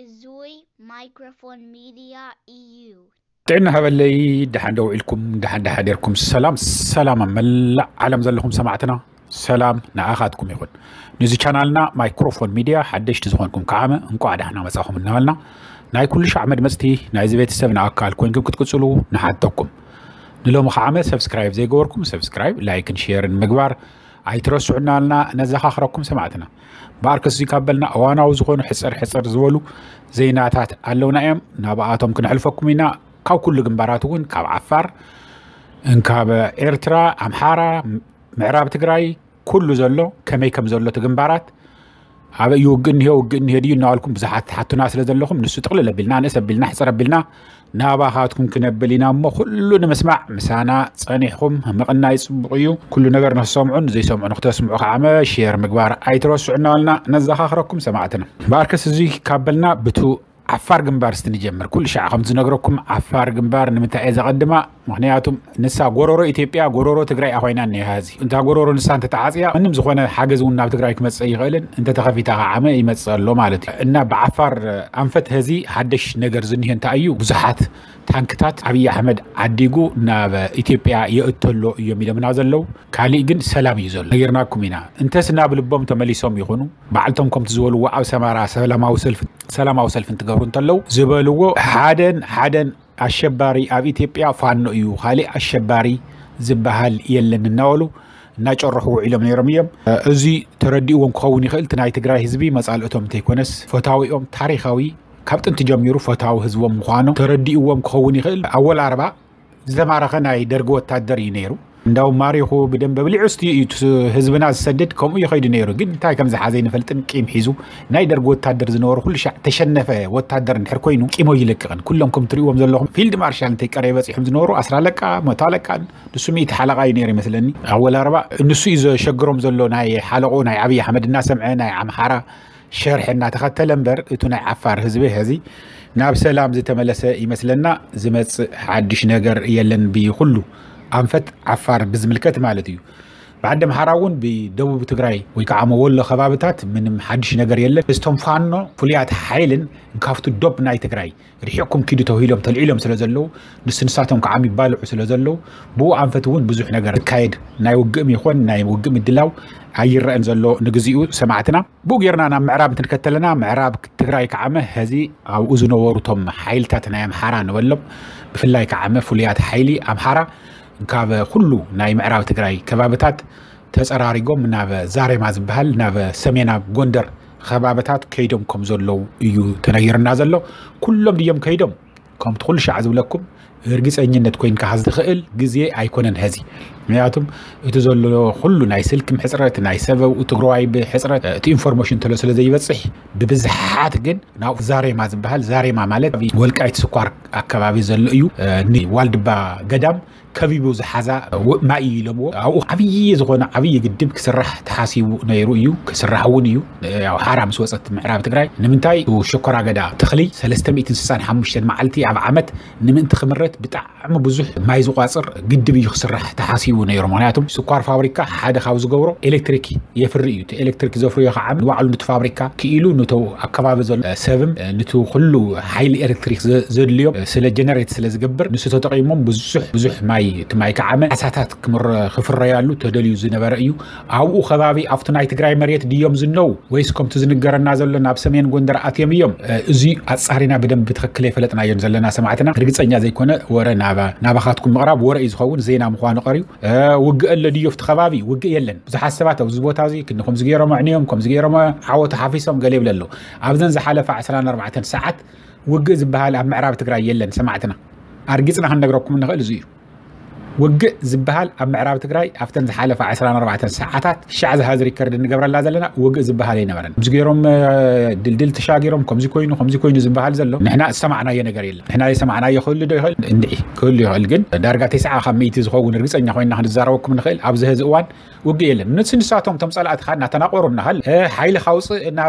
እዙይ ማይክሮፎን ሚድያ እዩ። ጥዕና ሃበለይ። ደሓን ደው ኢልኩም፣ ደሓን ደሓዲርኩም። ሰላም ሰላም ኣብ መላእ ዓለም ዘለኹም ሰማዕትና፣ ሰላም ንኣኻትኩም ይኹን። ንዚ ቻናልና ማይክሮፎን ሚድያ ሓደሽቲ ዝኾንኩም ከዓመ እንቋዕ ደሕና መጻኹም እናበልና፣ ናይ ኩሉ ሻዕ መድመጽቲ ናይዚ ቤተሰብ ንኣካል ኮይንኩም ክትቅጽሉ ንሓተኩም። ንሎሚ ከዓመ ሰብስክራይብ ዘይገበርኩም ሰብስክራይብ፣ ላይክን ሼርን ምግባር ኣይትረስዑ እናበልና ነዘኻኽረኩም ሰማዕትና። በኣርከስ እዚ ካብ በልና እዋናዊ ዝኾኑ ሕጽር ሕጽር ዝበሉ ዜናታት ኣለውና እዮም፣ ናብኣቶም ክነሕልፈኩም ኢና። ካብ ኩሉ ግንባራት እውን ካብ ዓፋር፣ እንካብ ኤርትራ፣ ኣምሓራ፣ ምዕራብ ትግራይ፣ ኩሉ ዘሎ ከመይ ከም ዘሎ እቲ ግንባራት፣ ኣበይ እዩ ውግእ እኒሄ፣ ውግእ እኒሄ ድዩ እናበልኩም ብዙሓት ትሓቱና ስለ ዘለኹም፣ ንሱ ጥቕልል ኣቢልና ንእስ ኣቢልና ሕጽር ኣቢልና ናባኻትኩም ክነብል ኢና እሞ፣ ኩሉ ንምስማዕ ምሳና ጸኒሕኩም ምቕናይ ጽቡቕ እዩ። ኩሉ ነገር ንክሰምዑን ዘይሰምዑ ንክተስምዑ ከዓመ ሼር ምግባር ኣይትረስዑ እናበልና ነዘኻኽረኩም ሰማዕትና። በኣርከስ እዚ ካብ በልና ብቱ ዓፋር ግንባር እስቲ ንጀምር። ኩሉ ሻዕ ከም ዝነግረኩም ዓፋር ግንባር ንምንታይ እየ ዘቐድማ? ምክንያቱም ንሳ ጎሮሮ ኢትዮጵያ፣ ጎሮሮ ትግራይ ኮይና እኒሃ። እዚ እንታ ጎሮሮ ንሳ እንተተዓፅያ ምንም ዝኾነ ሓገዝ እውን ናብ ትግራይ ክመፅእ ይኽእልን፣ እንተተኸፊታ ከዓመ ይመፅእ ኣሎ ማለት እዩ። እና ብዓፋር ኣንፈት ሀዚ ሓደሽ ነገር ዝኒሄ እንታይ እዩ? ብዙሓት ታንክታት ኣብይ ኣሕመድ ዓዲጉ ናብ ኢትዮጵያ የእተሎ እዮም ኢሎምና ዘለዉ። ካሊእ ግን ሰላም እዩ ዘሎ፣ ነጊርናኩም ኢና። እንተስ ናብ ልቦም ተመሊሶም ይኹኑ፣ ባዕልቶም ከምቲ ዝበልዎ ኣብ ሰማራ ሰላማዊ ሰልፊ ሰላማዊ ሰልፊ እንትገብሩ እንተለዉ ዝበልዎ፣ ሓደን ሓደን ኣሸባሪ ኣብ ኢትዮጵያ ፋኖ እዩ፣ ካሊእ ኣሸባሪ ዝበሃል የለን እናበሉ እናጨርሑ ውዒሎም ነይሮም እዮም። እዚ ተረዲእዎም ክኸውን ይኽእል፣ እቲ ናይ ትግራይ ህዝቢ መጻልእቶም እንተይኮነስ ፈታዊኦም ታሪኻዊ ካብ ጥንቲ ጀሚሩ ፈታዊ ህዝቦም ምዃኖም ተረዲእዎም ክኸውን ይኽእል። ኣወል ኣርባ ዝተማረኸ ናይ ደርጊ ወታደር እዩ ነይሩ። እንዳው ማሪኹ ብደንበ ብሊዑ ስቲ እዩ ህዝብና ዝሰድድ፣ ከምኡ ይኸይዱ ነይሩ። ግን እንታይ ከም ዝሓዘ ይንፈልጥን ቂም ሒዙ ናይ ደርጊ ወታደር ዝነበሩ ኩሉ ሻዕ ተሸነፈ ወታደር እንድሕር ኮይኑ ቂሞ ይለቅቕን። ኩሎም ከም ትሪእዎም ዘለኹም ፊልድ ማርሻል እንተይ ቀረይ በፂሖም ዝነበሩ ኣስራ ኣለቃ፣ መቶ ኣለቃ፣ ንሱ ሚእቲ ሓለቓ እዩ ነይሩ ይመስለኒ። ኣወል ኣርባ ንሱ እዩ ዘሸግሮም ዘሎ ናይ ሓለቑ ናይ ኣብይ ኣሕመድ እናሰምዐ ናይ ኣምሓራ ሸርሒ እናተኸተለ እምበር፣ እቱ ናይ ዓፋር ህዝቢ ሐዚ ናብ ሰላም ዝተመለሰ ይመስለና። ዝመጽእ ሓድሽ ነገር የለን ብኩሉ ኣንፈት ዓፋር ብዝምልከት ማለት እዩ። ብዓዲ ኣምሓራ እውን ብደቡብ ትግራይ ወይ ከዓ ወሎ ከባብታት ምንም ሓድሽ ነገር የለን። እቶም ፋኖ ፍሉያት ሓይልን ካብቱ ዶብ ናይ ትግራይ ርሒቕኩም ኪዱ ተባሂሎም ተልዒሎም ስለ ዘለዉ፣ ንስንሳቶም ከዓ ይባልዑ ስለ ዘለዉ፣ ብኡ ኣንፈት እውን ብዙሕ ነገር ዝካየድ ናይ ውግእም ይኾን ናይ ውግእ ምድላው ኣይረአን ዘሎ ንግዚኡ ሰማዕትና። ብኡ ጌርና ናብ ምዕራብ እንትንከተለና፣ ምዕራብ ትግራይ ከዓመ ሐዚ ኣብኡ ዝነበሩ እቶም ሓይልታት ናይ ኣምሓራ ንበሎም፣ ብፍላይ ከዓመ ፍሉያት ሓይሊ ኣምሓራ ካብ ኩሉ ናይ ምዕራብ ትግራይ ከባብታት ተጸራሪጎም ናብ ዛሬማ ዝበሃል ናብ ሰሜናብ ጎንደር ከባብታት ከይዶም ከም ዘለዉ እዩ ተነጊርና ዘሎ። ኩሎም ድዮም ከይዶም? ከምቲ ኩሉ ሻዕ ዝብለኩም ርግጸኝነት ኮይንካ ዝኽእል ግዜ ኣይኮነን ሐዚ። ምክንያቱም እቲ ዘሎ ኩሉ ናይ ስልክም ሕጽረት፣ ናይ ሰበው ትግራዋይ ብሕጽረት እቲ ኢንፎርሜሽን ተሎ ስለ ዘይበጽሕ ብብዝሓት ግን ናብ ዛሬማ ዝበሃል፣ ዛሬማ ማለት ኣብ ወልቃይት ስኳር ኣካባቢ ዘሎ እዩ። ንዋልድባ ገዳም ከቢቡ ዝሓዛ ማይ እዩ ኢሎምዎ። ኣብኡ ዓብዪ ዝኾነ ዓብዪ ግድብ ክስራሕ ተሓሲቡ ነይሩ እዩ፣ ክስራሕ እውን እዩ። ያው ሓራ ምስ ወፀት ምዕራብ ትግራይ ንምንታይ ሽኮራ ገዳ ተኽሊ ሰለስተ ሚእትን ስሳን ሓሙሽተን መዓልቲ ኣብ ዓመት ንምእንቲ ክምረት ብጣዕሚ ብዙሕ ማይ ዝቋፅር ግድብ እዩ ክስራሕ ተሓሲቡ ነይሩ። ምክንያቱም ስኳር ፋብሪካ ሓደ ካብ ዝገብሮ ኤሌክትሪክ የፍሪ እዩ። እቲ ኤሌክትሪክ ዘፍርዮ ከዓ ንባዕሉ ንቲ ፋብሪካ ክኢሉ ንቶ ኣከባቢ ዘሎ ሰብም ንቲ ኩሉ ሓይሊ ኤሌክትሪክ ዘድልዮም ስለ ጀነሬት ስለ ዝገብር ንሱ ተጠቂሞም ብዙሕ ብዙሕ ማይ እቲ ማይ ከዓመ ዓሳታት ክፍረያሉ ተደልዩ ዝነበረ እዩ። ኣብኡ ከባቢ ኣብቲ ናይ ትግራይ መሬት ድዮም ዝነው ወይስ ከምቲ ዝንገረና ዘሎ ናብ ሰሜን ጎንደር ኣትዮም እዮም? እዚ ኣጻሪና ብደንብ ብትኽክል የፈለጥናዮን ዘለና ሰማዕትና። ርግጸኛ ዘይኮነ ወረ ናባኻትኩም ምቕራብ ወረ እዩ ዝኸውን፣ ዜና ምዃኑ ቀርዩ። ውግእ ኣሎ ድዮ ኣብቲ ከባቢ? ውግእ የለን። ብዙሓት ሰባት ኣብዚ ቦታ እዚ ክንዲ ከምዚ ገይሮም ኣዕንዮም፣ ከምዚ ገይሮም ዓወት ሓፊሶም ገለ ይብል ኣሎ። ኣብዘን ዝሓለፋ ዕስራን ኣርባዕተን ሰዓት ውግእ ዝበሃል ኣብ ምዕራብ ትግራይ የለን ሰማዕትና። ኣርጊጽና ክንነግረኩም እንኽእል እዚ እዩ። ውግእ ዝበሃል ኣብ ምዕራብ ትግራይ ኣብተን ዝሓለፋ ዕስራን ኣርባዕተን ሰዓታት ሻዕ ዝሃዚ ሪከርድ እንገብረላ ዘለና ውግእ ዝበሃል ኣይነበረን። ከምዚ ገይሮም ድልድል ተሻጊሮም ከምዚ ኮይኑ ከምዚ ኮይኑ ዝበሃል ዘሎ ንሕና ዝሰማዕናዮ ነገር የለን። ንሕና ዝሰማዕናዮ ክህሉ ዶ ይኽእል? እንድዒ ክህሉ ይኽእል፣ ግን ዳርጋ ተስዓ ካብ ሚእቲ ዝኸውን ርግፀኛ ኮይንና ክንዛረበኩም ንኽእል። ኣብዚ ሀዚ እዋን ውግእ የለን። ንስ ንሳቶም እቶም ፀላእትኻ እናተናቆሩ እናሃል ሓይሊ ካውፅእ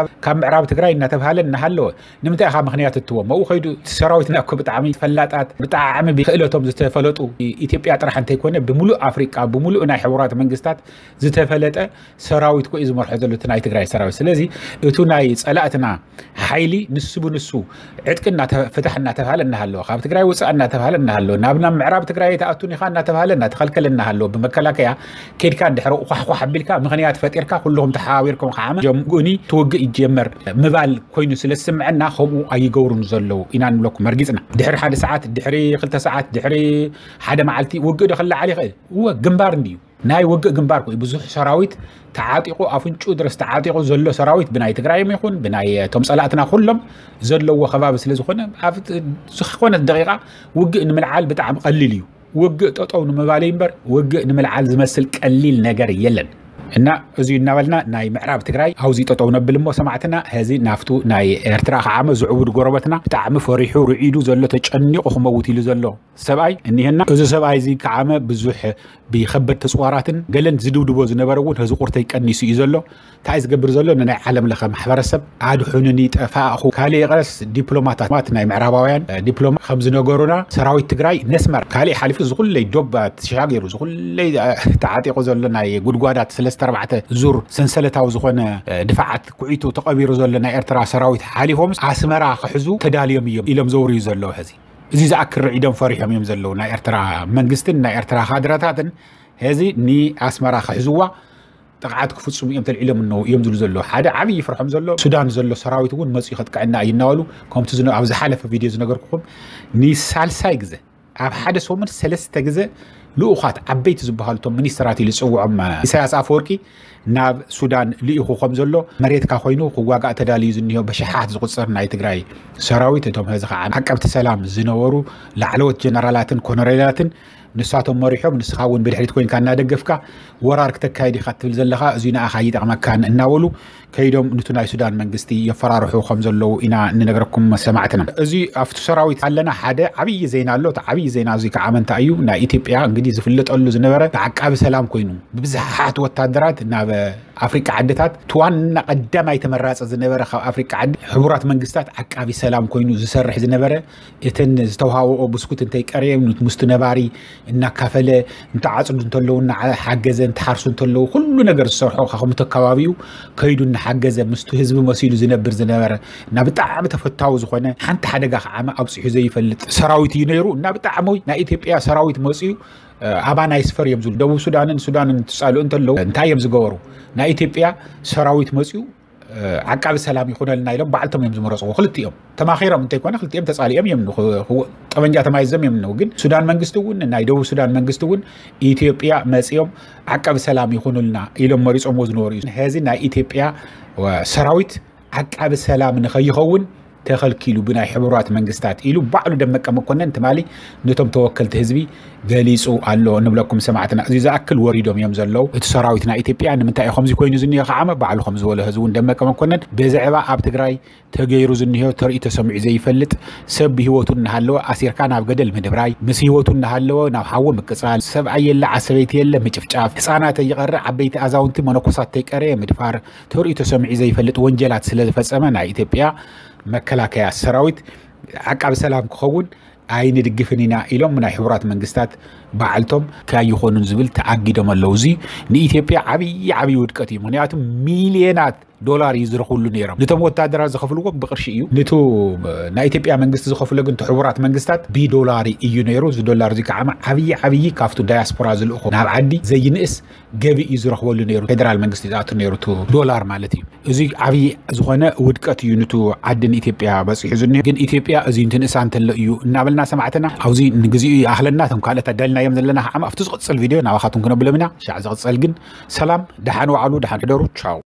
ካብ ምዕራብ ትግራይ እናተብሃለ እናሃለወ ንምንታይ ኢኻ ምኽንያት እትዎም ኣብኡ ከይዱ? ሰራዊትና እኮ ብጣዕሚ ፈላጣት ብጣዕሚ ብክእለቶም ዝተፈለጡ ኢትዮጵያ ጥራሕ ሓንቲ ኣይኮነ፣ ብምሉእ ኣፍሪቃ፣ ብምሉእ ናይ ሕቡራት መንግስታት ዝተፈለጠ ሰራዊት ኮ እዩ ዝመርሖ ዘሎ እቲ ናይ ትግራይ ሰራዊት። ስለዚ እቱ ናይ ጸላእትና ሓይሊ ንሱ ብንሱ ዕጥቂ እናተ-፣ ፍታሕ እናተባሃለ እናሃለወ፣ ካብ ትግራይ ውፃእ እናተባሃለ እናሃለወ፣ ናብ ናብ ምዕራብ ትግራይ ኣይትኣቱን ኢኻ እናተባሃለ እናተኸልከለ እናሃለወ፣ ብመከላከያ ኬድካ እንድሕሪ ኳሕኳሕ ኣቢልካ ምኽንያት ፈጢርካ ኩልኹም ተሓባቢርኩም ከዓ ጀምጉኒ ትውግእ ይጀመር ምባል ኮይኑ ስለ ዝስምዐና ከምኡ ኣይገብሩን ዘለዉ ኢና ንብለኩም መርጊፅና። ድሕሪ ሓደ ሰዓት፣ ድሕሪ ክልተ ሰዓት፣ ድሕሪ ሓደ መዓልቲ ውግእ ዶ ክለዓል ይኽእል? እወ፣ ግንባር እንድዩ። ናይ ውግእ ግንባር ኮ ብዙሕ ሰራዊት ተዓጢቑ፣ ኣፍንጩ ድረስ ተዓጢቑ ዘሎ ሰራዊት ብናይ ትግራይም ይኹን ብናይ እቶም ጸላእትና ኩሎም ዘለዎ ከባቢ ስለ ዝኾነ፣ ኣብ ዝኾነት ደቂቓ ውግእ ንምልዓል ብጣዕሚ ቀሊል እዩ። ውግእ ጠጠው ንምባል እዩ እምበር ውግእ ንምልዓል ዝመስል ቀሊል ነገር የለን። እና እዚ እናበልና ናይ ምዕራብ ትግራይ ኣብዚ ጠጠው ነብል እሞ ሰማዕትና፣ ሀዚ ናፍቱ ናይ ኤርትራ ከዓመ ዝዕቡድ ጎረበትና ብጣዕሚ ፈሪሑ ርዒዱ ዘሎ፣ ተጨኒቑ ክመውት ኢሉ ዘሎ ሰብኣይ እኒሀና። እዚ ሰብኣይ እዚ ከዓመ ብዙሕ ብኸበድቲ ጽዋራትን ገለን ዝድብድቦ ዝነበረ እውን ህዚ ቁርተይ ቀኒሱ እዩ ዘሎ። እንታይ ዝገብር ዘሎ? ንናይ ዓለም ለኸ ማሕበረሰብ ኣድሑንኒ ጠፋእኹ። ካልእ ይቕረስ ዲፕሎማታት ናይ ምዕራባውያን ዲፕሎማ ከም ዝነገሩና ሰራዊት ትግራይ ነስመር ካልእ ሓሊፉ ዝኹለይ ዶብ ተሻጊሩ ዝኹለይ ተዓጢቑ ዘሎ ናይ ጉድጓዳት ሰለስተ ኣርባዕተ ዙር ሰንሰለታዊ ዝኾነ ድፋዓት ኩዒቱ ተቐቢሩ ዘሎ ናይ ኤርትራ ሰራዊት ሓሊፎም ኣስመራ ክሕዙ ተዳልዮም እዮም ኢሎም ዘውርዩ ዘለዉ። ሕዚ እዚ ዝኣክል ርዒዶም ፈሪሖም እዮም ዘለዉ ናይ ኤርትራ መንግስትን ናይ ኤርትራ ካድረታትን። ሕዚ ንኣስመራ ክሕዝዋ ጥቕዓት ክፍጽሙ እዮም ተልዒሎም እነዉ እዮም ዝብሉ ዘለዉ። ሓደ ዓብዪ ፍርሖም ዘሎ ሱዳን ዘሎ ሰራዊት እውን መፅኡ ከጥቅዐና እዩ እናበሉ ከምቲ ዝነ-፣ ኣብ ዝሓለፈ ቪድዮ ዝነገርኩኹም ንሳልሳይ ግዜ ኣብ ሓደ ሰሙን ሰለስተ ግዜ ልኡኻት ዓበይቲ ዝበሃሉ እቶም ሚኒስትራት ኢሉ ዝፅውዖም ኢሳያስ ኣፈወርቂ ናብ ሱዳን ልኢኹ ከም ዘሎ መሬትካ ኮይኑ ክዋጋእ ተዳልዩ ዝኒሆ በሽሓት ዝቁፀር ናይ ትግራይ ሰራዊት እቶም ሕዚ ከዓ ዓቀብቲ ሰላም ዝነበሩ ላዕለዎት ጀነራላትን ኮነሬላትን ንሳቶም መሪሖም ንስኻ እውን ብድሕሪት ኮይንካ እናደገፍካ ወራር ክተካይድ ኢኻ ትብል ዘለኻ እዚ ንኣኻ ይጠቕመካን እናበሉ ከይዶም ንቱ ናይ ሱዳን መንግስቲ የፈራርሑ ከም ዘለዉ ኢና እንነግረኩም ሰማዕትና። እዚ ኣብቲ ሰራዊት ኣለና ሓደ ዓብዪ ዜና ኣሎ። እቲ ዓብዪ ዜና እዚ ከዓ እንታይ እዩ? ናይ ኢትዮጵያ እንግዲህ ዝፍለጠሉ ዝነበረ ዓቃቢ ሰላም ኮይኑ ብብዝሓት ወታደራት ናብ ኣፍሪቃ ዓድታት እቲ ዋና ቀዳማይ ተመራፂ ዝነበረ ካብ ኣፍሪቃ ዓዲ ሕቡራት መንግስታት ዓቃቢ ሰላም ኮይኑ ዝሰርሕ ዝነበረ እተን ዝተውሃብኦ ብስኩት እንተይቀረየም ምስቲ ነባሪ እናካፈለ እንተዓፅዱ እንተለዉ እናሓገዘ እንትሓርሱ እንተለዉ ኩሉ ነገር ዝሰርሖ ካብቲ ከባቢኡ ከይዱ እናሓገዘ ምስቲ ህዝቢ መሲሉ ዝነብር ዝነበረ እና ብጣዕሚ ተፈታዊ ዝኾነ ሓንቲ ሓደጋ ከዓ ኣብፂሑ ዘይፈልጥ ሰራዊት እዩ ነይሩ እና ብጣዕሚ ናይ ኢትዮጵያ ሰራዊት መፅኡ ኣባና ይስፈር እዮም ዝብሉ። ደቡብ ሱዳንን ሱዳንን ትፃልኡ እንተለዉ እንታይ እዮም ዝገበሩ? ናይ ኢትዮጵያ ሰራዊት መፅኡ ዓቃቢ ሰላም ይኹነልና ኢሎም ባዕልቶም እዮም ዝመረፅዎ። ክልቲኦም ተማኺሮም እንተይኮነ ክልቲኦም ተፃሊኦም እዮም ን-፣ ክው-፣ ጠበንጃ ተማይዞም እዮም ን-፣ ግን ሱዳን መንግስቲ እውን ናይ ደቡብ ሱዳን መንግስቲ እውን ኢትዮጵያ መፅኦም ዓቃቢ ሰላም ይኹኑልና ኢሎም መሪፆምዎ ዝነበሩ እዩ። ሕዚ ናይ ኢትዮጵያ ሰራዊት ዓቃቢ ሰላም ንኸይኸውን ተኸልኪሉ ብናይ ሕቡራት መንግስታት ኢሉ ባዕሉ ደመቀ መኮነን ትማሊ ነቶም ተወከልቲ ህዝቢ ገሊፁ ኣሎ ንብለኩም ሰማዕትና። እዚ ዝኣክል ወሪዶም እዮም ዘለዉ። እቲ ሰራዊት ናይ ኢትዮጵያ ንምንታይ እዩ ከምዚ ኮይኑ ዝኒኦ ከዓመ ባዕሉ ከም ዝበሎ ህዚ እውን ደመቀ መኮነን ብዛዕባ ኣብ ትግራይ ተገይሩ ዝኒሆ ተርእዩ ተሰሚዑ ዘይፈልጥ ሰብ ብህይወቱ እናሃለወ ኣሲርካ ናብ ገደል ምድብራይ ምስ ህይወቱ እናሃለወ ናብ ሓዊ ምቅፃል ሰብኣይ የለ ዓሰበይቲ የለ ምጭፍጫፍ ህፃናት ይቐረ ዓበይቲ ኣዛውንቲ መነኮሳት ተይቀረየ ምድፋር ተርእዩ ተሰሚዑ ዘይፈልጥ ወንጀላት ስለ ዝፈጸመ ናይ ኢትዮጵያ መከላከያ ሰራዊት ዓቃቢ ሰላም ክኸውን ኣይንድግፍን ኢና ኢሎም ናይ ሕቡራት መንግስታት ባዕልቶም ካይኾኑን ዝብል ተኣጊዶም ኣለዉ። እዚ ንኢትዮጵያ ዓብዪ ዓብዪ ውድቀት እዩ። ምክንያቱ ሚልዮናት ዶላር እዩ ዝረኽብሉ ነይሮም። ነቶም ወታደራት ዝኸፍልዎም ብቕርሺ እዩ። ንቱ ናይ ኢትዮጵያ መንግስቲ ዝኸፍሎ ግን እቲ ሕቡራት መንግስታት ብዶላር እዩ ነይሩ። እዚ ዶላር እዚ ከዓ ዓብዪ ዓብዪ ካብቱ ዳያስፖራ ዝልእኹ ናብ ዓዲ ዘይንእስ ገቢ እዩ ዝረኽበሉ ነይሩ። ፌደራል መንግስቲ ዝኣቱ ነይሩ እቲ ዶላር ማለት እዩ። እዚ ዓብዪ ዝኾነ ውድቀት እዩ ንቱ ዓዲ ንኢትዮጵያ በፂሑ ዝኒሆ። ግን ኢትዮጵያ እዚ እንትንእሳ እንተሎ እዩ እናበልና ሰማዕትና ኣብዚ ንግዚኡ ይኣኽለና። እቶም ካልኦት ኣዳልናዮም ዘለና ከዓ ኣብቲ ዝቕፅል ቪድዮ ናባኻትኩም ክነብሎም ኢና። ሻዕ ዝቕፀል ግን ሰላም፣ ደሓን ዋዕሉ፣ ደሓን ሕደሩ። ቻው።